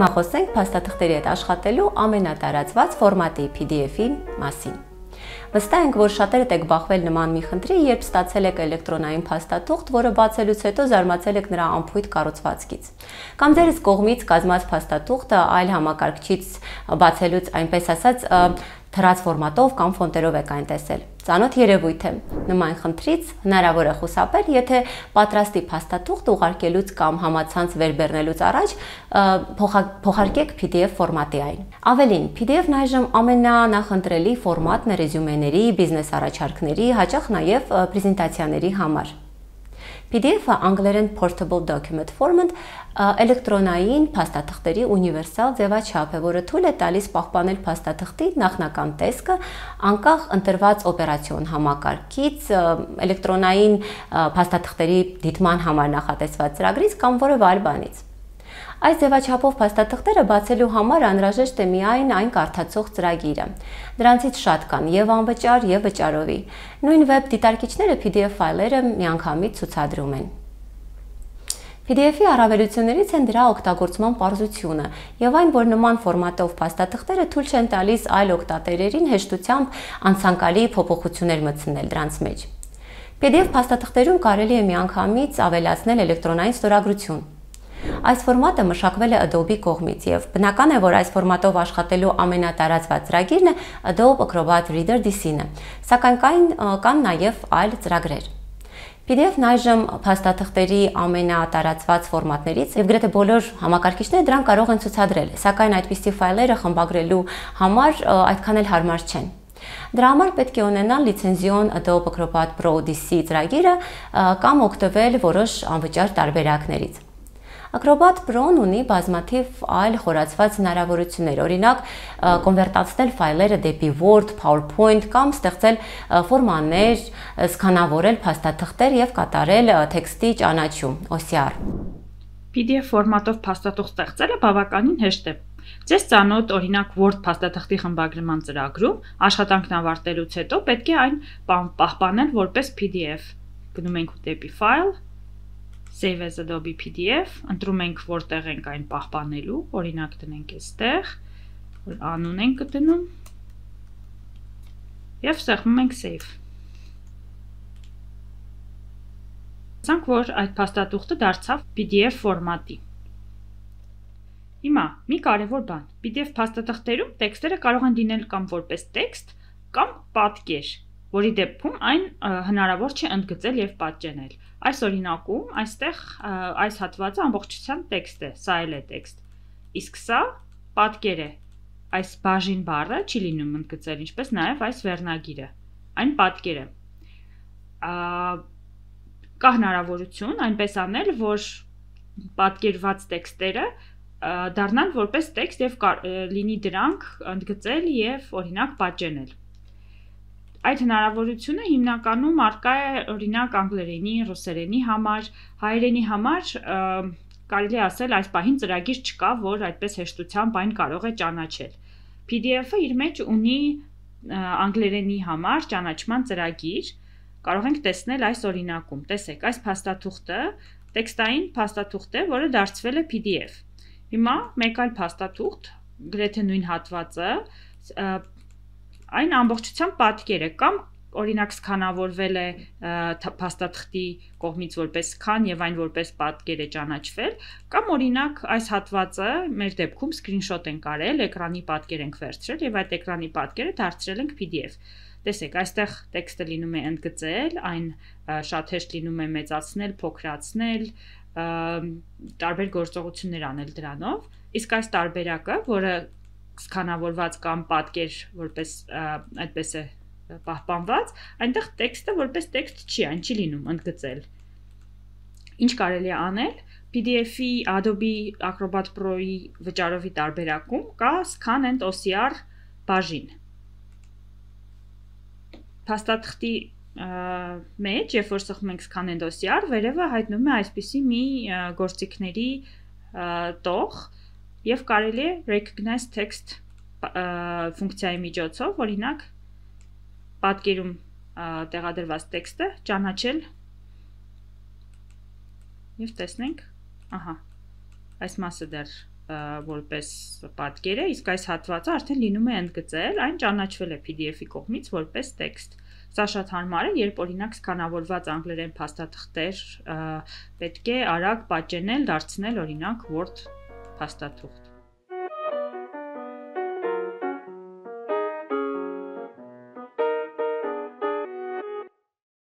Հիմա խոսենք փաստաթղթերի հետ աշխատելու ամենատարածված ֆորմատի PDF-ի մասին։ Վստահ ենք, որ շատերդ եք բախվել նման մի խնդրի, երբ ստացել եք էլեկտրոնային փաստաթուղթ, որը բացելուց հետո զարմացել եք նրա անփույթ կառուցվածքից։ Կամ ձերս կողմից կազմած փաստաթուղթը այլ համակարգչից բացելուց, այնպես ասած, թրած ֆորմատով կամ ֆոնտերով եք այն տեսել։ Ծանոթ երևույթ է։ Նման խնդրից հնարավոր է խուսափել, եթե պատրաստի փաստաթուղթ ուղարկելուց կամ համացանց վերբեռնելուց առաջ փոխարկեք PDF ֆորմատի այն։ Ավելին, PDF-ն այժմ ամենանախընտրելի ֆորմատն է ռեզյումեների, բիզնես առաջարկների, հաճախ նաև պրեզենտացիաների համար։ PDF-ը անգլերեն Portable Document Format էլեկտրոնային փաստաթղթերի ունիվերսալ ձևաչափ է, որը թույլ է տալիս պահպանել փաստաթղթի նախնական տեսքը անկախ ընտրված օպերացիոն համակարգից, էլեկտրոնային փաստաթղթերի դիտման համար նախատեսված ծրագրից կամ որևէ այլ բանից։ Այս ձևաչափով փաստաթղթերը բացելու համար անհրաժեշտ է միայն այն կարդացող ծրագիրը։ Դրանցից շատ կան եւ անվճար եւ վճարովի։ Նույն վեբ դիտարկիչները PDF ֆայլերը միանգամից ցուցադրում են։ PDF-ի առավելություններից են դրա օգտագործման պարզությունը եւ այն, որ նման ֆորմատով փաստաթղթերը թույլ չեն տալիս այլ օգտատերերին հեշտությամբ անցանկալի փոփոխություններ մտցնել դրանց մեջ։ PDF փաստաթղթերում կարելի է միանգամից ավելացնել էլեկտրոնային ստորագրություն։ Այս ֆորմատը մշակվել է Adobe կողմից եւ բնական է, որ այս ֆորմատով աշխատելու ամենատարածված ծրագիրն է Adobe Acrobat Reader DC-ն, սակայն կան նաեւ այլ ծրագրեր։ PDF-ն այժմ փաստաթղթերի ամենատարածված ֆորմատներից եւ գրեթե բոլոր համակարգիչները դրան կարող են ցուցադրել, սակայն այդպիսի ֆայլերը խմբագրելու համար այդքան էլ հարմար չեն։ Դրա համար պետք է ունենալ լիցենզիոն Adobe Acrobat Pro DC ծրագիրը կամ օգտվել որոշ անվճար տարբերակներից։ Acrobat Pro-ն ունի բազմաթիվ այլ խորացված հնարավորություններ, օրինակ կոնվերտացնել ֆայլերը դեպի Word, PowerPoint կամ ստեղծել ֆորմաներ, սկանավորել փաստաթղթեր եւ կատարել տեքստի ճանաչում (OCR)։ PDF ֆորմատով փաստաթուղթ ստեղծելը բավականին հեշտ է։ Ձեզ ծանոթ օրինակ Word փաստաթղթի խմբագրման ծրագրում աշխատանքն ավարտելուց հետո պետք է այն պահպանել որպես PDF։ Գնում ենք դեպի File, Save as Adobe PDF, ընտրում ենք որտեղ ենք այն պահպանելու, օրինակ դնենք այստեղ, անուն ենք դնում եւ սեղմում ենք Save։ Ասենք որ այդ փաստաթուղթը դարձավ PDF ֆորմատի։ Հիմա մի կարևոր բան, PDF փաստաթղթերում տեքստերը կարող են լինել կամ որպես տեքստ կամ պատկեր, որի դեպքում այն հնարավոր չէ ընդգծել եւ պատճենել։ Այս օրինակում այստեղ այս հատվածը ամբողջությամբ տեքստ է, սա էլ է տեքստ։ Իսկ սա պատկեր է։ Այս բաժին բառը չի լինում ընդգծել, ինչպես նաեւ այս վերնագիրը։ Այն պատկեր է։ Կա հնարավորություն այնպես անել, որ պատկերված տեքստերը դառնան որպես տեքստ եւ լինի դրանք ընդգծել եւ օրինակ պատճենել։ Այդ հնարավորությունը հիմնականում առկա է օրինակ անգլերենի, ռուսերենի համար, հայերենի համար կարելի ասել այս պահին ծրագիր չկա, որ այդպես հեշտությամբ այն կարող է ճանաչել։ PDF-ը իր մեջ ունի անգլերենի համար ճանաչման ծրագիր, կարող ենք տեսնել այս օրինակում։ Տեսեք, այս փաստաթուղթը տեքստային փաստաթուղթ է, որը դարձվել է PDF։ Հիմա մեկ այլ փաստաթուղթ, գրեթե նույն հատվածը, այն ամբողջությամբ պատկեր է կամ օրինակ սկանավորվել է փաստաթղթի կողմից որպես scan եւ այն որպես պատկեր է ճանաչվել, կամ օրինակ այս հատվածը մեր դեպքում screenshot ենք արել, էկրանի պատկեր ենք վերցրել եւ այդ էկրանի պատկերը դարձրել ենք PDF։ Տեսեք, այստեղ տեքստը լինում է ընդգծել, այն շատ հեշտ լինում է մեծացնել, փոքրացնել, տարբեր գործողություններ անել դրանով, իսկ այս տարբերակը, որը սկանավորված կամ պատկեր որպես այդպես է պահպանված, այնտեղ տեքստը որպես տեքստ չի, այն չի լինում ընդգծել։ Ինչ կարելի է անել, PDF-ի Adobe Acrobat Pro-ի վճարովի տարբերակում կա Scan and OCR բաժին։ Փաստաթղթի մեջ, երբ որ սեղմում ենք Scan and OCR, վերևը հայտնում է այսպիսի մի գործիքների տող եւ կարելի է Recognize Text ֆունկցիայի միջոցով, օրինակ պատկերում տեղադրված տեքստը ճանաչել եւ տեսնենք, ահա, այս մասը դեռ որպես պատկեր է, իսկ այս հատվածը արդեն լինում է ընդգծել, այն ճանաչվել է PDF-ի կողմից որպես տեքստ։ Սա շատ հարմար է, երբ օրինակ սկանավորված անգլերեն փաստաթղթեր պետք է արագ պատճենել, դարձնել օրինակ Word փաստաթուղթ։